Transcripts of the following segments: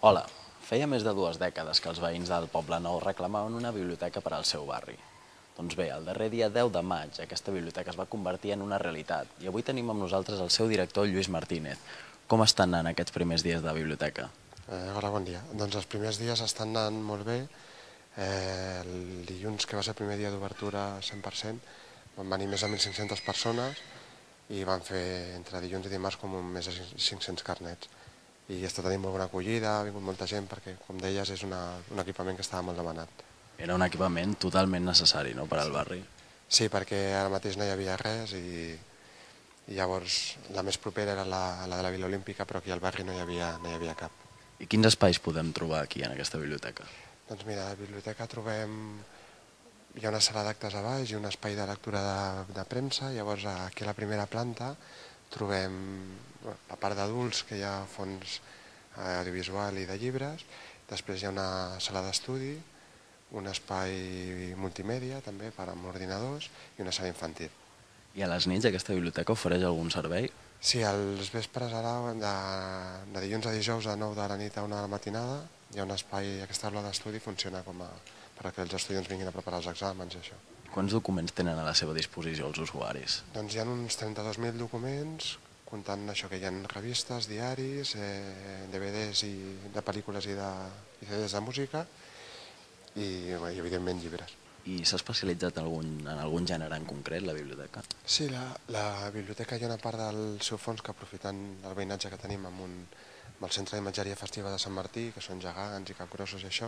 Hola, feia més de 2 dècades que els veïns del Poble Nou reclamaven una biblioteca per al seu barri. Doncs bé, el darrer dia 10 de maig aquesta biblioteca es va convertir en una realitat i avui tenim amb nosaltres el seu director, Lluís Martínez. Com estan anant aquests primers dies de biblioteca? Hola, bon dia. Doncs els primers dies estan anant molt bé. El dilluns, que va ser el primer dia d'obertura 100%, van venir més de 1.500 persones i van fer entre dilluns i dimarts com més de 500 carnets. I està tenint molt bona acollida, ha vingut molta gent perquè, com deies, és un equipament que estava molt demanat. Era un equipament totalment necessari, no?, per al barri. Sí, perquè ara mateix no hi havia res i llavors la més propera era la de la Vila Olímpica, però aquí al barri no hi havia cap. I quins espais podem trobar aquí en aquesta biblioteca? Doncs mira, a la biblioteca hi ha una sala d'actes a baix i un espai de lectura de premsa. Llavors aquí a la primera planta trobem la part d'adults, que hi ha fons audiovisual i de llibres. Després hi ha una sala d'estudi, un espai multimèdia també per amb ordinadors i una sala infantil. I a les nits aquesta biblioteca ofereix algun servei? Sí, als vespres ara, de dilluns a dijous a 9 de la nit a 1 de la matinada, hi ha un espai, aquesta aula d'estudi funciona perquè els estudiants vinguin a preparar els exàmens i això. Quants documents tenen a la seva disposició els usuaris? Doncs hi ha uns 32.000 documents, comptant això que hi ha revistes, diaris, DVDs de pel·lícules i CDs de música i evidentment llibres. I s'ha especialitzat en algun gènere en concret, la biblioteca? Sí, la biblioteca hi ha una part del seu fons que, aprofitant el veïnatge que tenim amb el Centre d'Imatgeria Festiva de Sant Martí, que són gegants i capgrossos i això,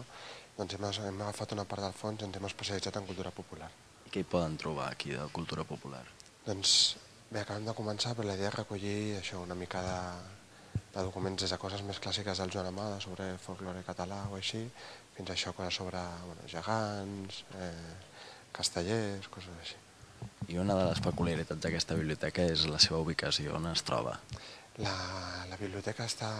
doncs hem agafat una part del fons i ens hem especialitzat en cultura popular. I què hi poden trobar aquí de cultura popular? Doncs bé, acabem de començar, però la idea és recollir això, una mica de documents des de coses més clàssiques del Joan Amada sobre folklore català o així, fins a això coses sobre gegants, castellers, coses així. I una de les peculiaritats d'aquesta biblioteca és la seva ubicació, on es troba. La biblioteca està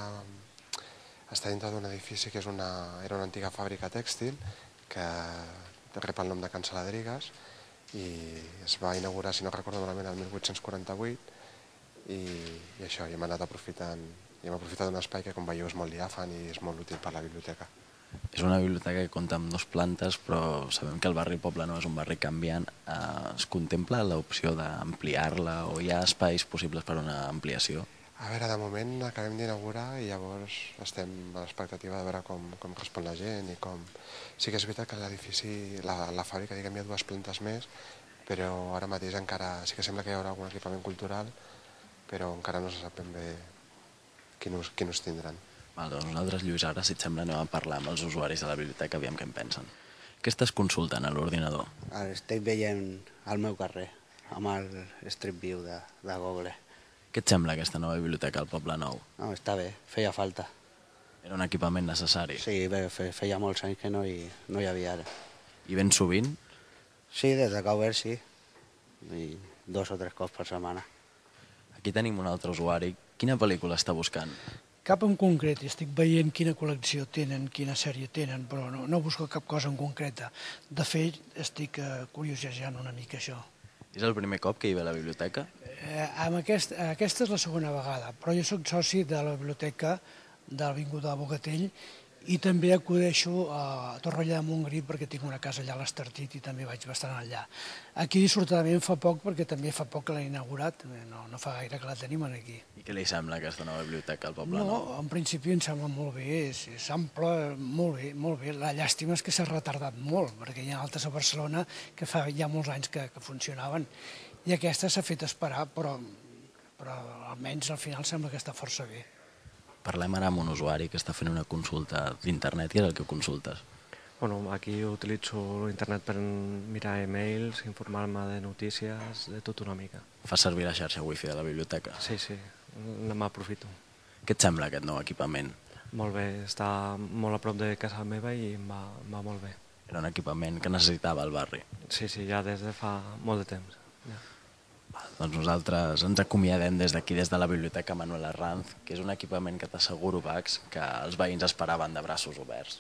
dintre d'un edifici que era una antiga fàbrica tèxtil que rep el nom de Can Saladrigues i es va inaugurar, si no recordo malament, el 1848 i això, hem anat aprofitant d'un espai que, com veieu, és molt diàfan i és molt útil per a la biblioteca. És una biblioteca que compta amb 2 plantes, però sabem que el barri Poble Nou és un barri canviant. Es contempla l'opció d'ampliar-la o hi ha espais possibles per a una ampliació? A veure, de moment acabem d'inaugurar i llavors estem a l'expectativa de veure com respon la gent i com... Sí que és veritat que l'edifici, la fàbrica, diguem, hi ha 2 plantes més, però ara mateix encara sí que sembla que hi haurà algun equipament cultural, però encara no se sap ben bé quin ús tindran. Doncs nosaltres, Lluís, ara, si et sembla, anem a parlar amb els usuaris de la biblioteca, aviam què en pensen. Què estàs consultant a l'ordinador? Estic veient al meu carrer, amb el Street View de Google. Què et sembla aquesta nova biblioteca al Poble Nou? No, està bé, feia falta. Era un equipament necessari? Sí, bé, feia molts anys que no hi havia ara. I ben sovint? Sí, des que ha obert, sí. I 2 o 3 cops per setmana. Aquí tenim un altre usuari. Quina pel·lícula està buscant? Cap en concret, estic veient quina col·lecció tenen, quina sèrie tenen, però no busco cap cosa en concreta. De fet, estic curiosejant una mica això. És el primer cop que hi ve a la biblioteca? Aquesta és la segona vegada, però jo soc soci de la biblioteca de l'Avinguda de Bogatell i també acudeixo a Torroella de Montgrí perquè tinc una casa allà a l'Estartit i també vaig bastant allà. Aquí dissortadament fa poc perquè també fa poc que l'he inaugurat, no fa gaire que la tenim aquí. I què li sembla aquesta nova biblioteca al Poble Nou? No, en principi em sembla molt bé, és ample, molt bé, molt bé. La llàstima és que s'ha retardat molt, perquè hi ha altres a Barcelona que fa ja molts anys que funcionaven i aquesta s'ha fet esperar, però almenys al final sembla que està força bé. Parlem ara amb un usuari que està fent una consulta d'internet. Què és el que consultes? Bueno, aquí utilitzo l'internet per mirar e-mails, informar-me de notícies, de tot una mica. Fas servir la xarxa wifi de la biblioteca? Sí, m'aprofito. Què et sembla aquest nou equipament? Molt bé, està molt a prop de casa meva i em va molt bé. Era un equipament que necessitava el barri? Sí, ja des de fa molt de temps. Ja. Doncs nosaltres ens acomiadem des d'aquí, des de la Biblioteca Manuel Arranz, que és un equipament que t'asseguro, Pax, que els veïns esperaven de braços oberts.